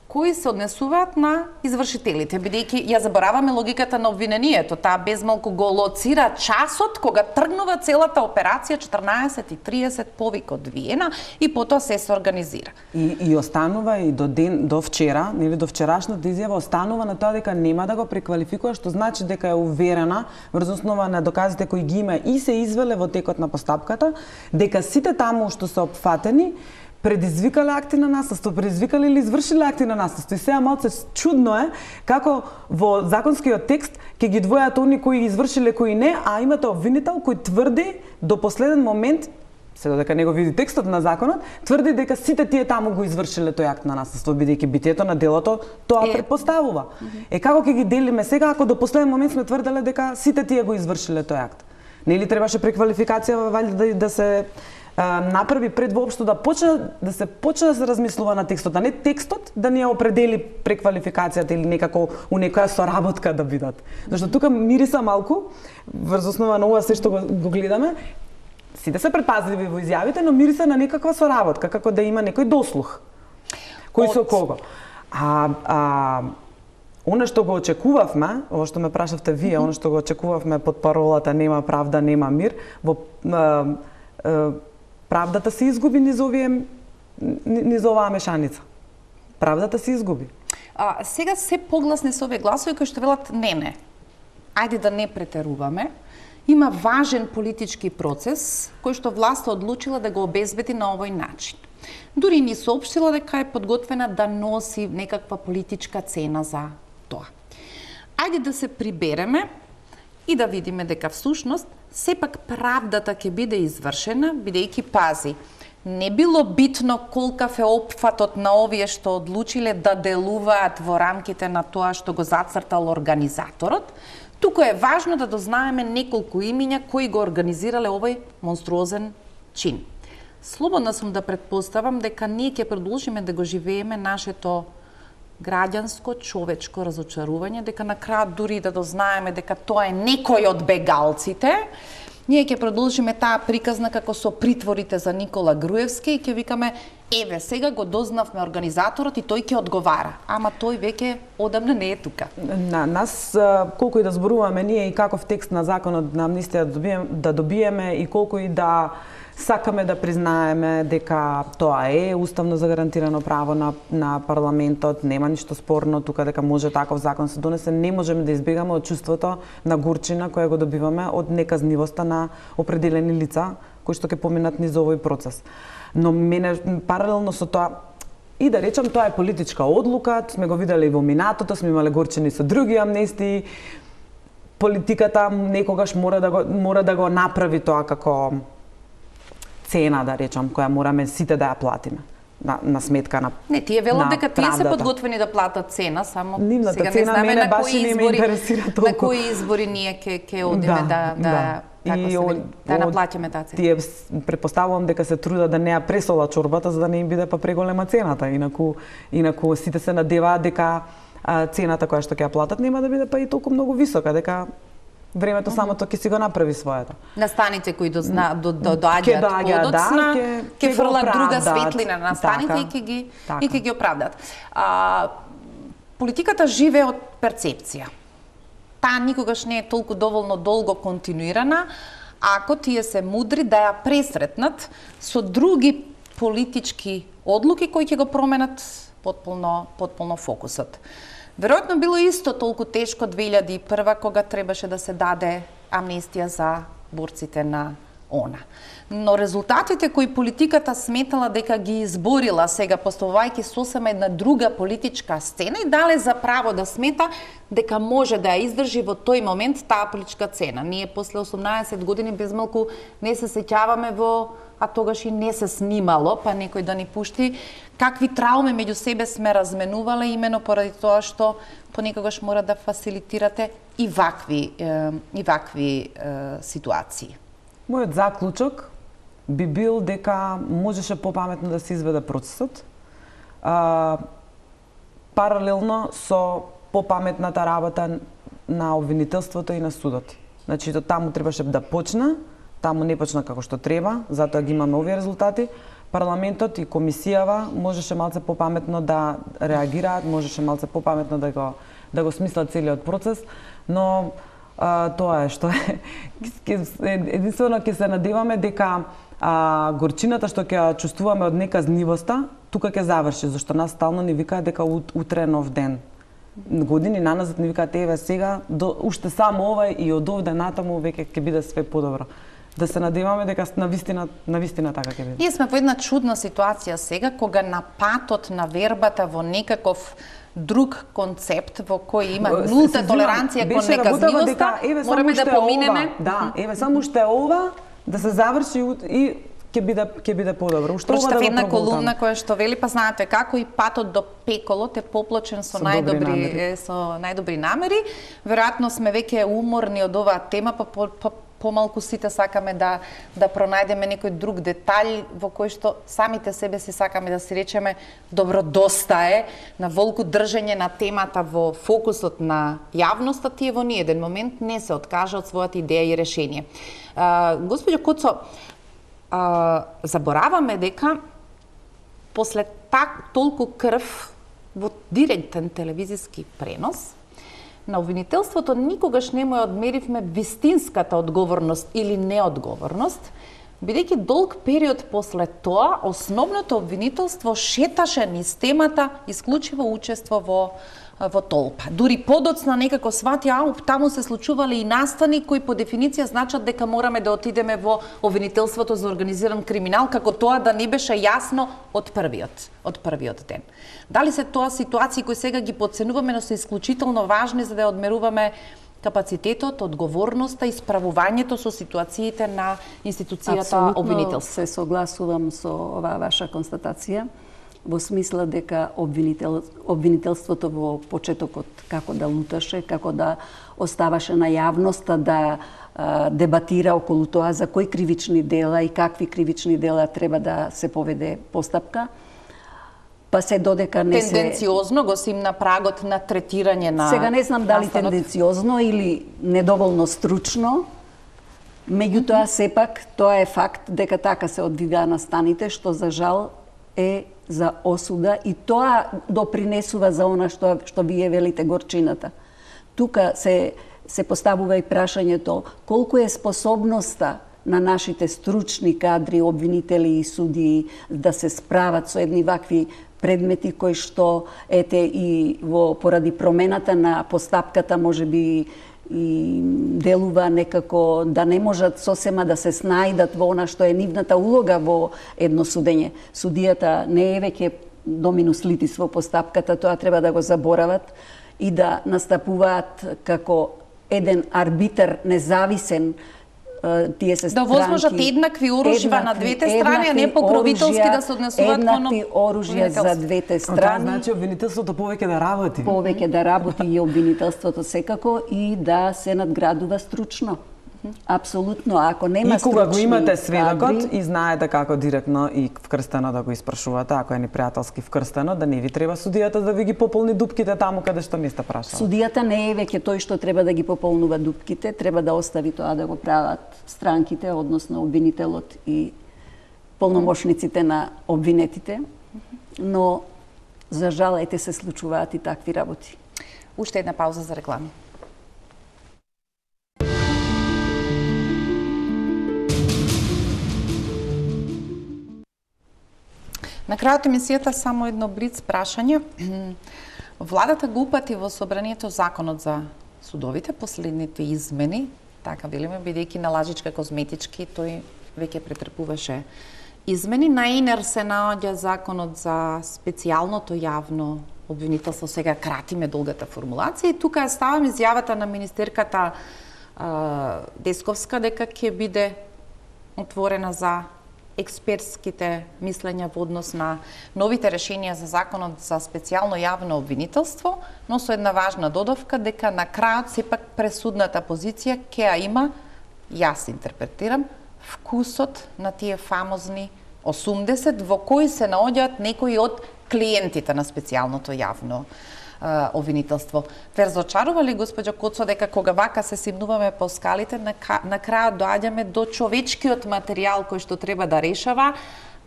кои се однесуваат на извршителите, бидејќи ја забораваме логиката на обвинението. Таа безмалку го лоцира часот кога тргнува целата операција 14:30 повик од Виена и потоа се организира. И останува и до вчера, нели до вчерашната изјава останува на тоа дека нема да го преквалификува, што значи дека е уверена врз основа на доказите кои ги има и се извеле во текот на постапката, дека сите таму што се опфатени предизвикале акти на насилство, предизвикале или извршиле акти на насилство. И сега малце чудно е како во законскиот текст ќе ги двојат они кои извршиле, кои не, а имате обвинител кој тврди до последен момент се додека не го види текстот на законот, тврди дека сите тие таму го извршиле тој акт на наследство, бидејќи битието на делото тоа претпоставува. Како ќе ги делиме сега ако до последен момент сме тврделе дека сите тие го извршиле тој акт? Нели требаше преквалификација валјда да се направи пред воопшто да се почне да се размислува на текстот, а не текстот да ни ја определи преквалификацијата или некако у некоја соработка да бидат. Зашто тука мириса малку врз основа на ова се што го гледаме. Сите се предпазливи во изјавите, но мириса на некаква соработка, како да има некој дослух. Кој со кого? Она што го очекувавме, ова што ме прашавте вие, она што го очекувавме под паролата нема правда, нема мир, правдата се изгуби низ оваа мешаница. Правдата се изгуби. Сега се погласни се овие гласови кои што велат не. Ајде да не претеруваме. Има важен политички процес кој што власта одлучила да го обезбеди на овој начин. Дури ни соопштила дека е подготвена да носи некаква политичка цена за тоа. Ајде да се прибереме и да видиме дека всушност сепак правдата ќе биде извршена, бидејќи пази, не било битно колкав е опфатот на овие што одлучиле да делуваат во рамките на тоа што го зацртал организаторот, туку е важно да дознаеме неколку имиња кои го организирале овој монструозен чин. Слободна сум да претпоставам дека ние ќе продолжиме да го живееме нашето граѓанско, човечко разочарување, дека на крајот дури да дознаеме дека тоа е некој од бегалците, ние ќе продолжиме таа приказна како со притворите за Никола Груевски и ќе викаме еве сега го дознавме организаторот и тој ќе одговара, ама тој веќе одамна не е тука. На нас колку и да зборуваме ние и каков текст на законот на амнистија да добиеме и колку и да сакаме да признаеме дека тоа е уставно загарантирано право на парламентот, нема ништо спорно тука дека може таков закон се донесе, не можеме да избегаме од чувството на горчина која го добиваме од неказнивоста на определени лица кои што ќе поминат низ овој процес. Но мене паралелно со тоа и да речам тоа е политичка одлука, сме го виделе и во минатото, сме имале горчини со други амнестии. Политиката некогаш мора да го направи тоа како цена, да речам, која мораме сите да ја платиме на сметка на Не, тие велат дека тие се подготвени да платат цена, само нивната сега цена не знаме мене баш не ме интересира толку. На кои избори ние ќе одиме да наплаќаме таа цена. Тие претпоставувам дека се трудат да не ја пресола чорбата за да не им биде па преголема цената, инаку сите се надеваат дека цената која што ќе ја платат нема да биде па и толку многу висока, дека времето самото ќе си го направи своето. Настаните кои доаѓаат подоцна, ќе фрлат друга светлина на настаните и ќе ги оправдат. Политиката живее од перцепција. Таа никогаш не е толку доволно долго континуирана, ако тие се мудри да ја пресретнат со други политички одлуки кои ќе го променат потполно фокусот. Веројатно било исто толку тешко 2001 кога требаше да се даде амнестија за борците на ОНА. Но резултатите кои политиката сметала дека ги изборила сега поставувајќи сосема една друга политичка сцена и дале за право да смета дека може да ја издржи во тој момент таа политичка цена. Ние после 18 години безмалку не се сеќаваме а тогаш и не се снимало, па некој да ни пушти какви трауми меѓу себе сме разменувале имено поради тоа што понекогаш мора да фасилитирате и вакви ситуации. Мојот заклучок би бил дека можеше попаметно да се изведе процесот, паралелно со попаметната работа на обвинителството и на судот. Значи, таму требаше да почна, таму не почна како што треба, затоа ги имаме овие резултати. Парламентот и комисијава можеше малце попаметно да реагираат, можеше малце попаметно да го смислат целиот процес, но тоа е што е. Единствено ќе се надеваме дека горчината што ќе ја чувствуваме од неказнивоста, тука ќе заврши, зашто нас стално ни викаат дека утре е нов ден. Години наназад ни викаат еве сега уште само ова и од овде натаму веќе ќе биде све подобро. Да се надеваме дека навистина така ќе биде. Ние сме во една чудна ситуација сега кога на патот на вербата во некаков друг концепт во кој има нулта толеранција кон неказнивоста, мораме да поминеме. Да, еве само уште ова да се заврши и ќе биде подобро. Прочитав една колумна која што вели, па знаете како и патот до пеколот е поплочен со најдобри намери. Веројатно сме веќе уморни од оваа тема, па помалку сите сакаме да пронајдеме некој друг детаљ во кој што самите себе си сакаме да си речеме добро, доста е на волку држење на темата во фокусот на јавноста, тие во ниеден момент не се откажа од својата идеја и решение. Господјо Коцо, забораваме дека после толку крв во директен телевизиски пренос на обвинителството никогаш не му ја одмеривме вистинската одговорност или неодговорност, бидејќи долг период после тоа основното обвинителство шеташе низ темата исклучиво учество во толпа. Дури подоцна некако свати, таму се случувале и настани кои по дефиниција значат дека мораме да отидеме во обвинителството за организиран криминал, како тоа да не беше јасно од првиот ден. Дали се тоа ситуации кои сега ги подценуваме, но се исклучително важни за да одмеруваме капацитетот, одговорноста и справувањето со ситуациите на институцијата обвинителство? Апсолутно се согласувам со оваа ваша констатација, во смисла дека обвинителството во почетокот како да луташе, како да оставаше на јавноста да дебатира околу тоа за кои кривични дела и какви кривични дела треба да се поведе постапка, па се додека не се... Тенденциозно го сим на прагот на третирање на... Сега не знам дали тенденциозно или недоволно стручно, меѓутоа сепак тоа е факт дека така се одвиваа настаните, што за жал е за осуда и тоа допринесува за она што вие велите горчината. Тука се поставува и прашањето колку е способноста на нашите стручни кадри, обвинители и судии да се справат со едни вакви предмети кои што ете и поради промената на постапката можеби и делува некако да не можат сосема да се снајдат во она што е нивната улога во едно судење. Судијата не е веќе доминус литис во постапката, тоа треба да го заборават и да настапуваат како еден арбитар независен. Тие се странки, да возможат еднакви оружја на двете страни, а не покровителски да се однесуваат кон еднакви оружја за двете страни. Тоа значи обвинителството повеќе да работи. Повеќе да работи и обвинителството секако и да се надградува стручно. Апсолутно, ако нема стручни кога го имате сведокот и знаете како директно и вкрстено да го испрашувате, ако е непријателски вкрстено, да не ви треба судијата да ви ги пополни дупките таму каде што не сте прашали. Судијата не е веќе тој што треба да ги пополнува дупките, треба да остави тоа да го прават странките, односно обвинителот и полномошниците на обвинетите, но за жал ете се случуваат и такви работи. Уште една пауза за реклами. На крајот емисијата само едно блиц прашање. Владата го упати во собранието законот за судовите, последните измени, така велиме, бидејќи на лажичка козметички тој веќе претрпуваше измени. На инер се наоѓа законот за специјалното јавно обвинителство, сега кратиме долгата формулација и тука ставам изјавата на министерката Десковска дека ќе биде отворена за експертските мислења во однос на новите решенија за законот за специјално јавно обвинителство, но со една важна додавка дека на крајот сепак пресудната позиција ќе ја има, јас интерпретирам, вкусот на тие фамозни 80 во кои се наоѓаат некои од клиентите на специјалното јавно обвинителство. Ве разочарува ли, госпоѓо Коцо, дека кога вака се симнуваме по скалите, на крајот доаѓаме до човечкиот материјал кој што треба да решава,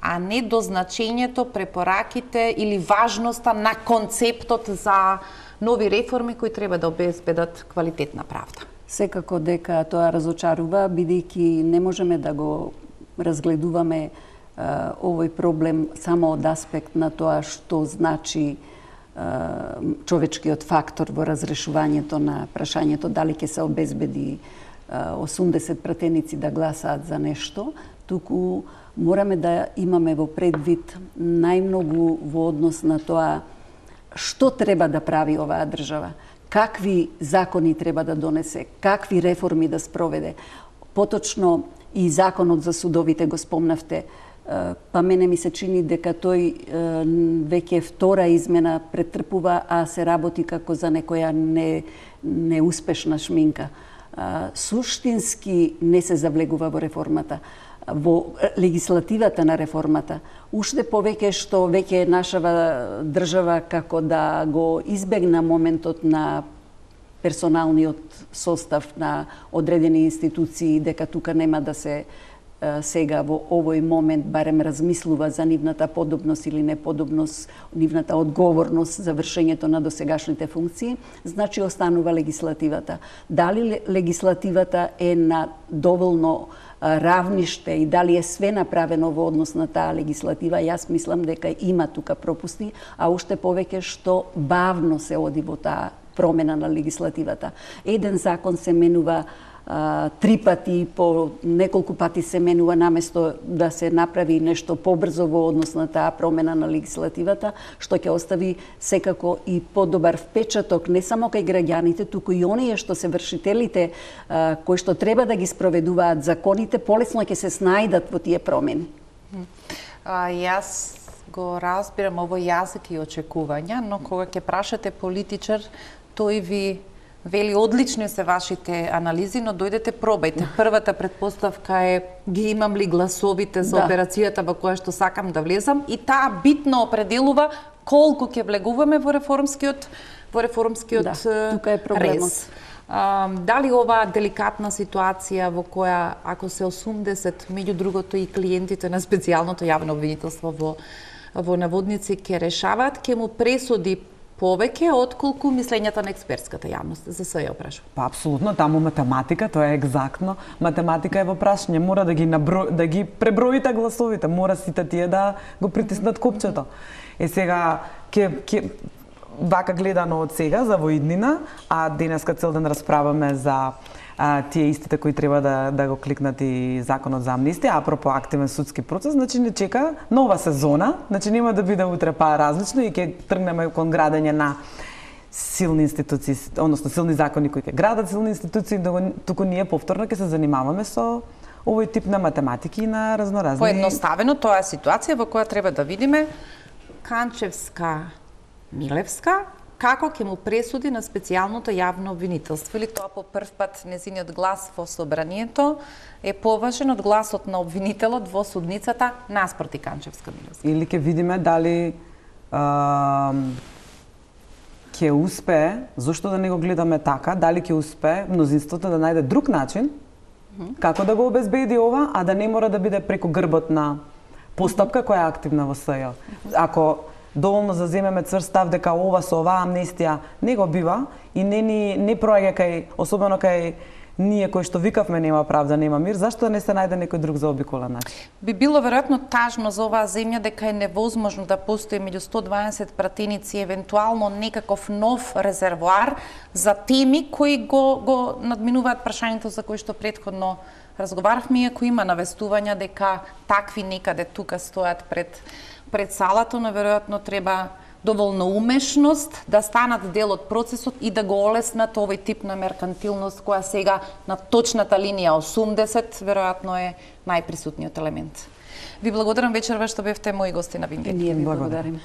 а не до значењето, препораките или важноста на концептот за нови реформи кои треба да обезбедат квалитетна правда? Секако дека тоа разочарува, бидејќи не можеме да го разгледуваме овој проблем само од аспект на тоа што значи човечкиот фактор во разрешувањето на прашањето дали ќе се обезбеди 80 пратеници да гласаат за нешто, туку мораме да имаме во предвид најмногу во однос на тоа што треба да прави оваа држава, какви закони треба да донесе, какви реформи да спроведе. Поточно и законот за судовите го спомнавте. Па мене ми се чини дека тој веќе втора измена претрпува, а се работи како за некоја неуспешна шминка. Суштински не се завлегува во реформата, во легислативата на реформата. Уште повеќе што веќе нашава држава како да го избегна моментот на персоналниот состав на одредени институции, дека тука нема да се сега во овој момент барем размислува за нивната подобност или неподобност, нивната одговорност за вршењето на досегашните функции, значи останува легислативата. Дали легислативата е на доволно равниште и дали е све направено во однос на таа легислатива, јас мислам дека има тука пропусти, а уште повеќе што бавно се оди во таа промена на легислативата. Еден закон се менува 3 пати, по неколку пати се менува наместо да се направи нешто побрзо во однос на таа промена на легислативата, што ќе остави секако и подобар впечаток не само кај граѓаните, туку и оние што се вршителите кои што треба да ги спроведуваат законите, полесно ќе се снајдат во тие промени. Јас го разбирам овој јазик и очекувања, но кога ќе прашате политичар, тој ви вели одлични се вашите анализи, но дојдете пробајте. Првата предпоставка е ги имам ли гласовите за операцијата во која што сакам да влезам и таа битно определува колку ќе влегуваме во реформскиот тука е проблемот. рез. Дали оваа деликатна ситуација во која ако се 80, меѓу другото и клиентите на специјалното јавно обвинителство во наводници ќе решаваат, ќе му пресуди повеќе отколку мислењата на експертската јавност? За се ја опрашувам. Па апсолутно, таму математика, тоа е екзактно. Математика е во прашање, мора да ги преброите гласовите, мора сите тие да го притиснат копчето. Сега вака гледано од сега за воиднина, а денеска цел ден расправаме за тие истите кои треба да го кликнат и законот за амнестија, апропо активен судски процес, значи не чека нова сезона, значи нема да биде утре па различно и ќе тргнеме кон градење на силни институции, односно силни закони кои ќе градат силни институции, туку ние повторно ќе се занимаваме со овој тип на математики и на разноразни. Поедноставено тоа е ситуација во која треба да видиме Канчевска, Милевска, како ќе му пресуди на специјалното јавно обвинителство, или тоа по прв пат незиниот глас во собранието е поважен од гласот на обвинителот во судницата наспроти Канчевска Милевска. Или ќе видиме дали ќе успее, зошто да не го гледаме така, дали ќе успее мнозинството да најде друг начин како да го обезбеди ова, а да не мора да биде преку грбот на постапка која е активна во СЈ. Ако доволно заземеме цврст став дека ова со оваа амнестија не го бива и не проаѓа кај, особено кај ние кои што викавме нема правда, нема мир, зашто да не се најде некој друг заобиколен начин? Би било веројатно тажно за оваа земја дека е невозможно да постои меѓу 120 пратеници евентуално некаков нов резервоар за теми кои го надминуваат прашањето за кои што претходно разговаравме, иако има навестувања дека такви некаде тука стојат пред салата, но веројатно треба доволно умешност да станат дел од процесот и да го олеснат овој тип на меркантилност која сега на точната линија 80 веројатно е најприсутниот елемент. Ви благодарам вечерва што бевте мои гости на Виндејт. Ние ви благодариме.